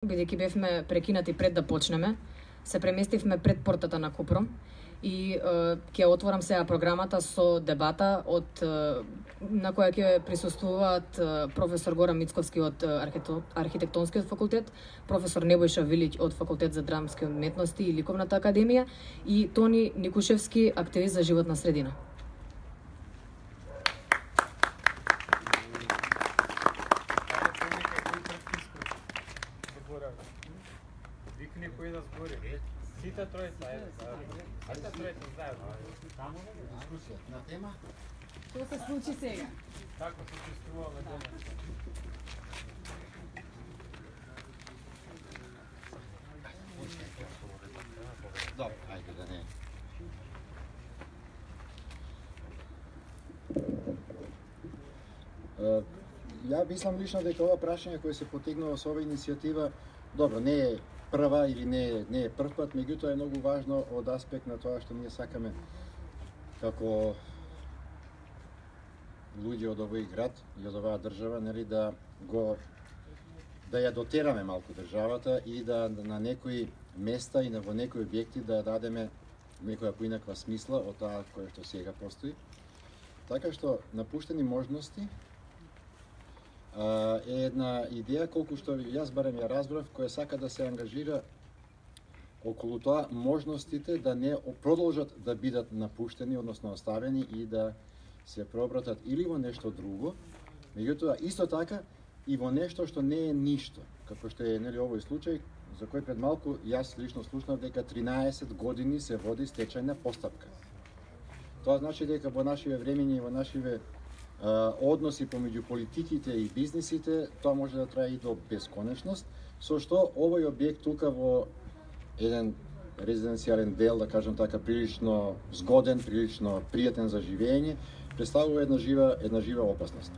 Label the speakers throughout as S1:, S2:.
S1: Бидејќи бевме прекинати пред да почнеме, се преместивме пред портата на Купром и ќе отворам сега програмата со дебата на која ќе присуствуваат професор Горан Мицковски од Архитектонскиот факултет, професор Небојша Вилиќ од Факултет за драмски уметности и Ликовната академија и Тони Никушевски, активист за животна средина.
S2: Викни кој да збори. Сите тројца, сите тројца заедно. Таму дискусија
S3: на тема.
S1: Што се случи сега?
S2: Како се чувствуваме денес?
S3: Добро, ајде да не. Ја мислам лично дека ова прашање кое се потегнува со ова иницијатива, добро, не е прва или не е прв пат, меѓутоа е многу важно од аспект на тоа што ние сакаме како луѓе од овој град и од оваа држава, нели, да ја дотераме малку државата и да на некои места и во некои објекти да дадеме некоја поинаква смисла од таа која што сега постои. Така што напуштени можности е една идеја, колку што јас барем ја разбрав, која сака да се ангажира околу тоа можностите да не продолжат да бидат напуштени, односно оставени и да се преобратат или во нешто друго, меѓутоа исто така и во нешто што не е ништо, како што е, нели, овој случај за кој пред малку јас лично слушнав дека 13 години се води стечајна постапка. Тоа значи дека во нашиве времиња и во нашиве односи помеѓу политиките и бизнисите, тоа може да трае и до бесконечност, со што овој објект тука во еден резиденцијален дел, да кажам така, прилично згоден, прилично пријатен за живење, представува една жива опасност.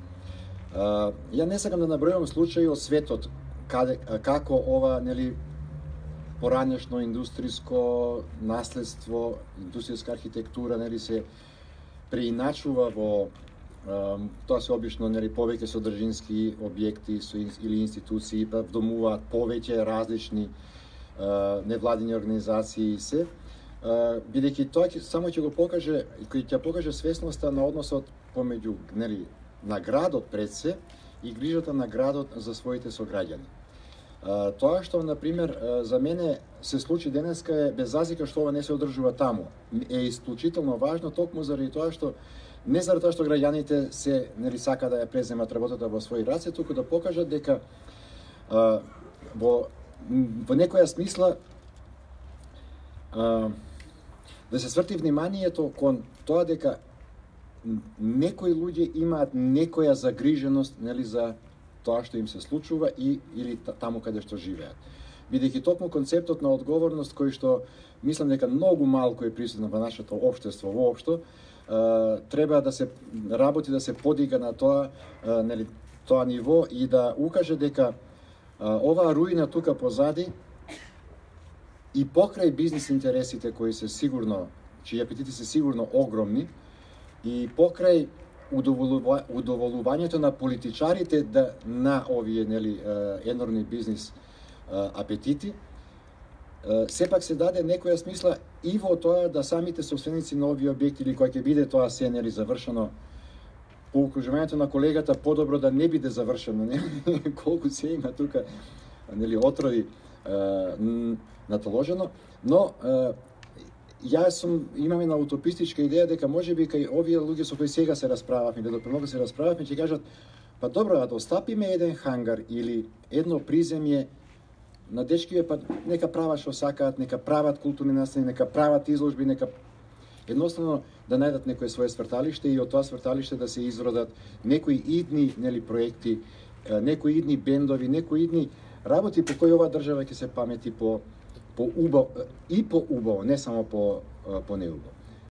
S3: Ја не сакам да набројувам случаи од светот како ова, нели, поранешно индустриско наследство, индустријска архитектура, нели, се преиначува во тоа се обично, нели, повеќе содржински објекти или институции, па вдомуваат повеќе различни невладини организации се, бидејќи тоа само ќе го покаже, ќе покаже свесноста на односот помеѓу, нели, на градот пред се и грижата на градот за своите сограѓани. Тоа што, например, за мене се случи денеска е, без разлика што ова не се одржува таму, е исклучително важно токму заради тоа што не заради тоа што граѓаните се, нели, сака да ја преземат работата во своји раце, туку да покажат дека во некоја смисла да се сврти вниманието кон тоа дека некои луѓе имаат некоја загриженост, нели, за тоа што им се случува или таму каде што живеат. Бидејќи токму концептот на одговорност кој што мислам дека многу малку е присутен во нашето општество воопшто, треба да се работи, да се подига на тоа, нели, тоа ниво и да укаже дека оваа руина тука позади и покрај бизнис интересите кои се сигурно, чии апетити се сигурно огромни, и покрај удоволувањето на политичарите на овие, нели, енормни бизнис апетити, сепак се даде некоја смисла и во тоа да самите собственици на овие објекти, или кој ќе биде тоа се, нели, завршено, по укружувањето на колегата, подобро да не биде завршено, нели, колку се има тука, нели, отрови натоложено, но имам една утопистичка идеја дека можеби кај овие луѓе со кои сега се расправавме, да премногу се расправавме, ќе кажат, па добро, да остапиме еден хангар или едно приземје на дечкиве, па нека прават што сакаат, нека прават културни настани, нека прават изложби, нека едноставно да најдат некое свое сврталиште и од тоа сврталиште да се изродат некои идни, нели, проекти, некои идни бендови, некои идни работи по кои оваа држава ќе се памети по убаво, не само по неубаво.